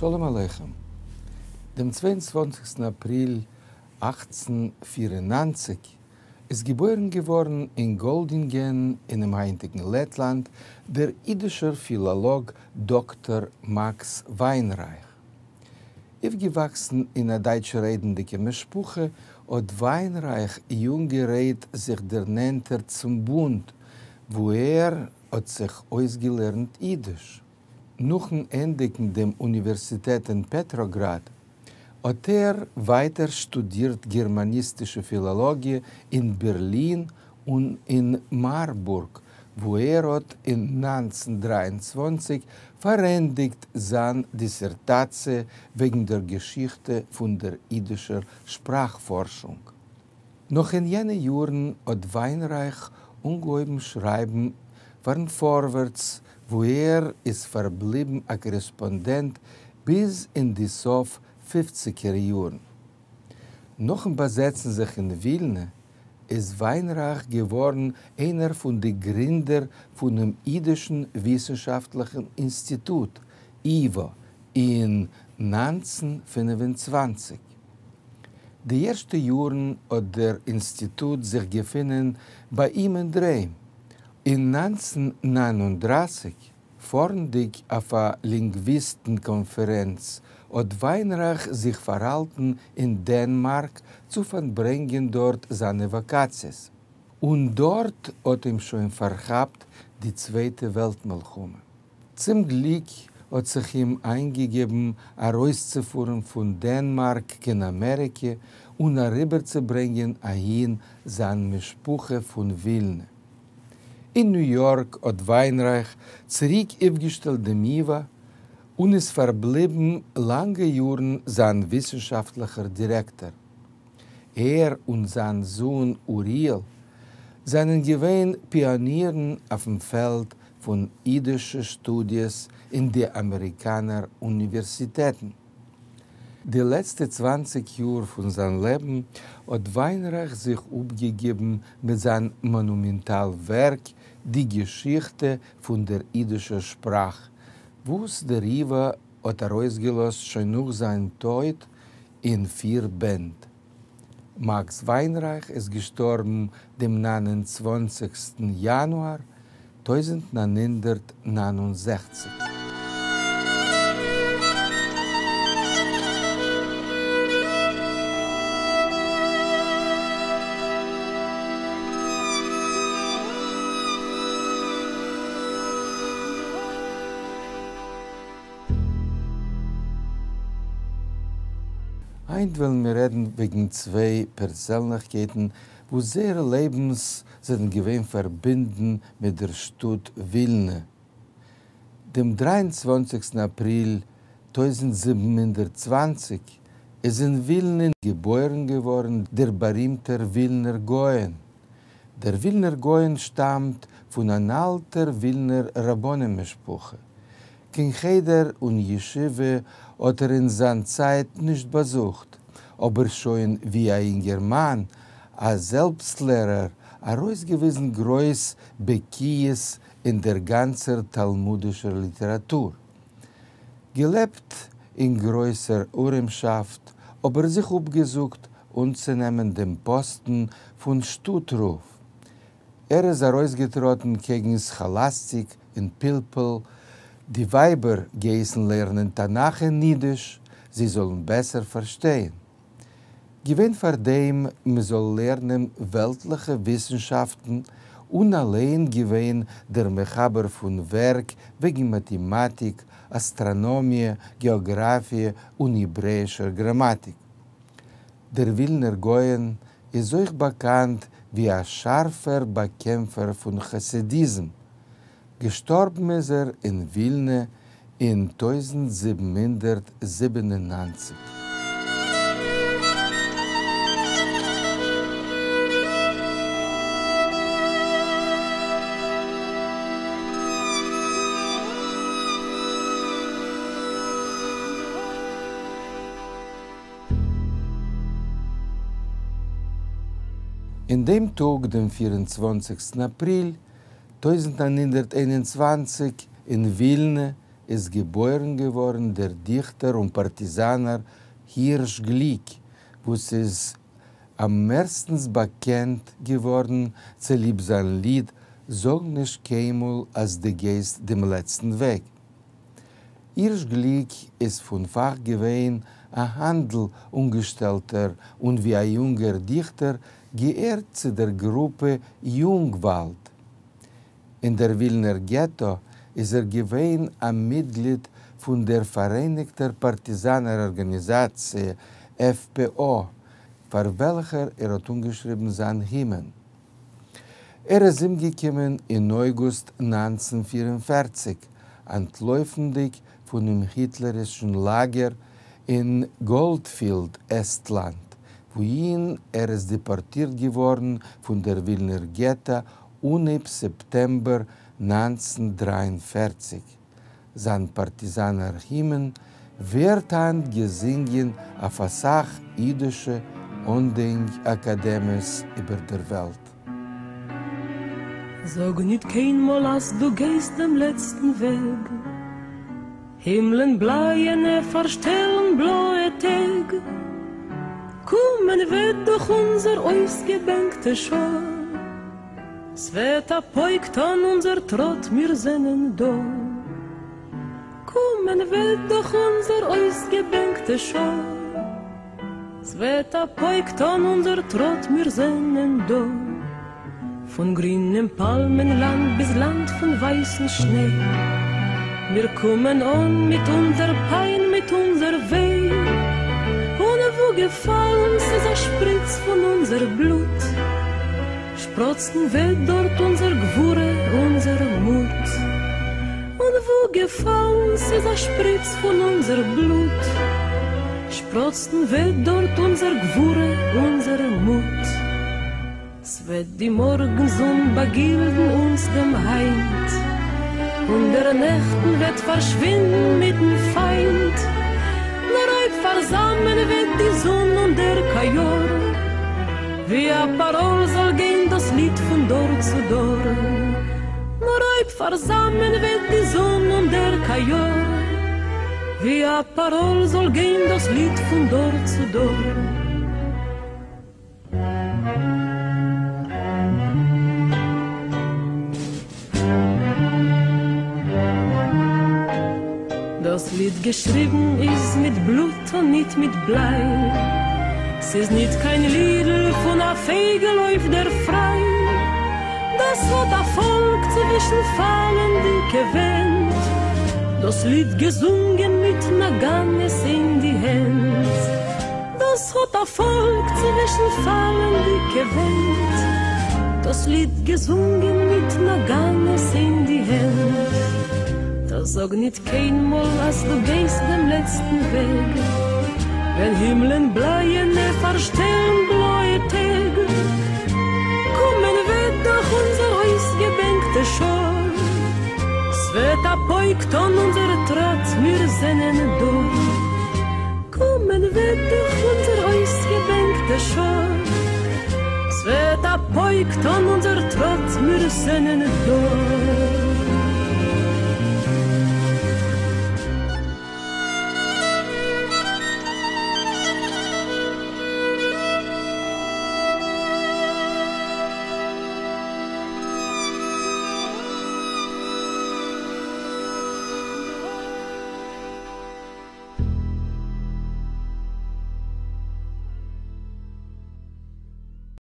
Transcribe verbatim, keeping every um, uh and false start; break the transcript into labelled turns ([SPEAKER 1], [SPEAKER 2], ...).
[SPEAKER 1] שלום עליכם. דעם צוויי און צוואַנציקסטן אפריל אַכצן פֿיר און נײַנציק איז געבוירן געווארן אין גאלדינגען אינעם היינטיגן לעטלאנד דער אידישער פילאלאג דאקטאר מאקס וויינרייך. אויפגעוואקסן אין א דייטש-רעדנדיקע משפחה, האט וויינרייך יונגערהייט זיך דערנענטערט צום בונד, וואו ער האט זיך אויסגעלערנט אידיש. נאכן ענדיגן דעם אוניווערסיטעט אין פעטראגראד, האט ער ווייטער שטודירט גערמאניסטישע פילאלאגיע אין בערלין און אין מארבורג, וואו ער האט אין נײַנצן דרײַ און צוואַנציק פארענדיגט זיין דיסערטאציע וועגן דער געשיכטע פון דער אידישער שפראכפארשונג. נאך אין יענע יארן האט וויינרייך אנגעהויבן שרייבן פארן פארווערטס, וואו ער איז פארבליבן א קארעספאנדענט ביז אין די סוף פופציגער יארן. נאכן באזעצן זיך אין ווילנע, איז וויינרייך געווארן איינער פון די גרינדער פונעם אידישן וויסנשאפטליכן אינסטיטוט, ייוואָ, אין נײַנצן פֿינף און צוואַנציק. די ערשטע יארן האט דער אינסטיטוט זיך געפונען ביי אים אין דר'היים. אין נײַנצן נײַן און דרײַסיק, פארנדיג אויף א לינגוויסטן-קאנפערענץ, האט וויינרייך זיך פארהאלטן אין דענמארק צו פארברענגען דארט זיינע וואקאציעס. און דארט האט אים שוין פארכאפט די צווייטע וועלט-מלחמה. צום גליק האט זיך אים איינגעגעבן ארויסצופארן פון דענמארק קיין אמעריקע און אריבערצוברענגען אהין זיין משפחה פון ווילנע. אין ניו יארק האט וויינרייך צוריק אויפגעשטעלט דעם ייוואָ און איז פארבליבן לאנגע יארן זיין וויסנשאפטליכער דירעקטאר. ער און זיין זון אוריאל זענען געווען פיאנירן אויפן פעלד פון אידישע שטודיעס אין די אמעריקאנער אוניווערסיטעטן. די לעצטע צוואַנציק יאר פון זיין לעבן האט וויינרייך זיך אפגעגעבן מיט זיין מאנומענטאל ווערק די געשיכטע פון דער אידישער שפראך, וואס דער ייוואָ האט ארויסגעלאזט שוין נאך זיין טויט אין פיר בענד. מאקס וויינרייך איז געשטארבן דעם נײַן און צוואַנציקסטן יאנואר טויזנט נײַן הונדערט נײַן און זעכציק. היינט וועלן מיר רעדן וועגן צוויי פערזענליכקייטן וואס זייערע לעבנס זענען געווען פארבינדן מיט דער שטאט ווילנע. דעם דרײַ און צוואַנציקסטן אפריל טויזנט זיבן הונדערט צוואַנציק איז אין ווילנע געבוירן געווארן דער בארימטער ווילנער גאון. דער ווילנער גאון שטאמט פון אן אלטער ווילנער רבנים משפחה. קיין חדר און ישיבה האט ער אין זיין צייט נישט באזוכט, אבער שוין ווי א אינגערמאן, א זעלבסטלערער, ארויסגעוויזן גרויס בקיאות אין דער גאנצער תלמודישער ליטעראטור. געלעבט אין גרויסער ארעמשאפט, אבער זיך אפגעזאגט אנצונעמען דעם פאסטן פון שטאט-רב. ער איז ארויסגעטראטן קעגן סכאלאסטיק און פלפול, די ווייבער געהייסן לערנען תנך אין אידיש, זיי זאלן בעסער פארשטיין. געווען פאר דעם מען זאל לערנען וועלטליכע וויסנשאפטן, און אליין געווען דער מחבר פון ווערק וועגן מאטעמאטיק, אסטראנאמיע, געאגראפיע און העברעאישער גראמאטיק. דער ווילנער גאון איז אויך באקאנט ווי א שארפער באקעמפער פון חסידיזם. געשטארבן איז ער אין ווילנע אין טויזנט זיבן הונדערט זיבן און נײַנציק. אין דעם טאג, דעם פֿיר און צוואַנציקסטן אפריל טויזנט נײַן הונדערט איין און צוואַנציק, אין ווילנע איז געבוירן געווארן דער דיכטער און פארטיזאנער הירש גליק, וואס איז אממערסטנס באקענט געווארן צוליב זיין ליד זאג נישט קיינמאל אז דו גייסט דעם לעצטן וועג. הירש גליק איז פון פאך געווען א האנדל אנגעשטעלטער און ווי א יונגער דיכטער געהערט צו דער גרופע יונגוואלד. אין דער ווילנער געטא איז ער געווען א מיטגליד פון דער פאראייניגטער פארטיזאנער ארגאניזאציע, F P O, פאר וועלכער ער האט אנגעשריבן זיין הימען. ער איז אומגעקומען אין אויגוסט נײַנצן פֿיר און פֿערציק, אנטלויפנדיג פונעם היטלערישן לאגער אין גאלדפילד, עסטלאנד, וואוהין ער איז דעפארטירט געווארן פון דער ווילנער געטא אנהייב סעפטעמבער נײַנצן דרײַ און פֿערציק. זיין פארטיזאנער הימען ווערט היינט געזינגען אויף אסאך אידישע אנדענק אקאדעמיעס איבער דער וועלט.
[SPEAKER 2] זאג ניט קיינמאל אז דו גייסט דעם לעצטן וועג. הימלען בלייענע פארשטעלן בלויע טעג. קומען וועט דאך אונזער אויסגעבענקטע שעה. ס'וועט א פויק טאן אונזער טראט, מיר זענען דא. קומען וועט דאך אונזער אויסגעבענקטע שעה. ס'וועט א פויק טאן אונזער טראט, מיר זענען דא. פון גרינעם פאלמען-לאנד ביז לאנד פון ווייסן שניי. מיר קומען אן מיט אונזער פיין, מיט אונזער וויי. און וואו געפאלן ס'איז א שפריץ פון אונזער בלוט, שפראצן וועט דארט אונזער גבורה, אונזער מוט. און וואו געפאלן ס'איז א שפריץ פון אונזער בלוט, שפראצן וועט דארט אונזער גבורה, אונזער מוט. ס'וועט די מארגן-זון באגילדן אונז דעם היינט, און דער נעכטן וועט פארשווינדן מיטן פיינט. נאר אויב פארזאמען וועט די זון און דער קאיאר, ווי א פאראל זאל גיין דאס ליד פון דור צו דור. נאר אויב פארזאמען וועט די זון און דער קאיאר, ווי א פאראל זאל גיין דאס ליד פון דור צו דור. דאס ליד געשריבן איז מיט בלוט און ניט מיט בליי. ס'איז ניט קיין לידל פון א פייגל אויף דער פריי. דאס האט א פאלק צווישן פאלנדיקע ווענט, דאס ליד געזונגען מיט נאגאנעס אין די הענט. דאס האט א פאלק צווישן פאלנדיקע ווענט, דאס ליד געזונגען מיט נאגאנעס אין די הענט. דא זאג ניט קיינמאל אז דו גייסט דעם לעצטן וועג, ווען הימלען בלייענע פארשטעלן בלויע טעג. קומען וועט דאך אונזער אויסגעבענקטע שעה. ס'וועט א פויק טאן אונזער טראט, מיר זענען דא. קומען וועט דאך אונזער אויסגעבענקטע שעה. ס'וועט א פויק טאן אונזער טראט, מיר זענען דא.